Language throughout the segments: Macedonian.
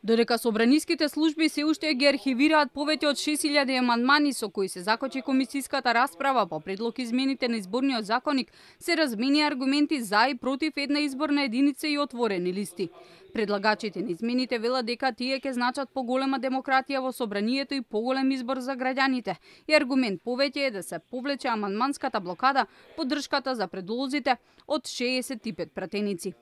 Додека собраниските служби се уште ги архивираат повеќе од 6000 амандмани со кои се закочи комисиската расправа по предлог измените на изборниот законник, се размени аргументи за и против една изборна единица и отворени листи. Предлагачите на измените велат дека тие ќе значат поголема демократија во собранието и поголем избор за граѓаните. И аргумент повеќе е да се повлече амандманската блокада, поддршката за предлозите од 65 пратеници.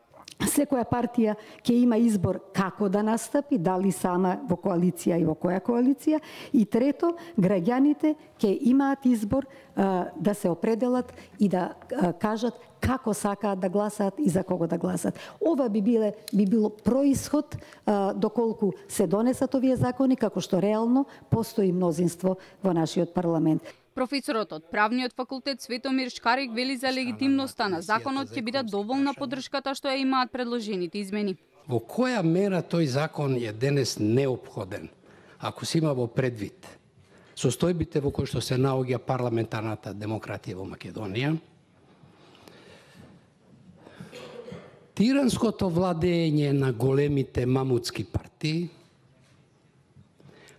Секоја партија ќе има избор како да настапи, дали сама во коалиција и во која коалиција. И трето, граѓаните ќе имаат избор да се определат и да кажат како сакаат да гласаат и за кого да гласаат. Ова би било происход доколку се донесат овие закони, како што реално постои мнозинство во нашиот парламент. Професорот од Правниот факултет Светомир Шкарик вели за легитимноста на законот ќе биде доволна поддршката што ја имаат предложените измени. Во која мера тој закон е денес неопходен, ако се има во предвид состојбите во кои што се наоѓа парламентарната демократија во Македонија, тиранското владење на големите мамутски партии,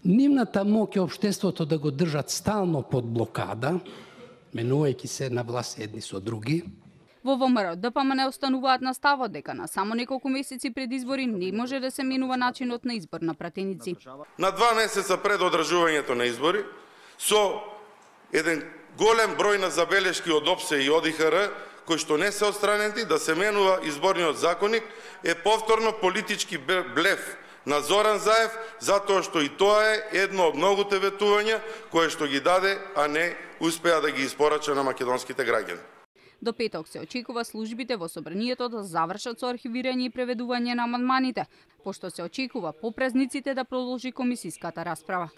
нивната моќ општеството да го држат стално под блокада, менувајќи се на власт едни со други. Во ВМРО ДПМН остануваат на ставот дека на само неколку месеци пред избори не може да се менува начинот на избор на пратеници. На 2 месеца пред одржувањето на избори, со еден голем број на забелешки од ОПСЕ и ОДИХР, кои што не се отстранети, да се менува изборниот законник, е повторно политички блеф на Зоран Заев, затоа што и тоа е едно од многуте ветувања кое што ги даде, а не успеа да ги испорача на македонските граѓани. До петок се очекува службите во собранието да завршат со архивирање и преведување на амандманите, пошто се очекува по празниците да продолжи комисиската расправа.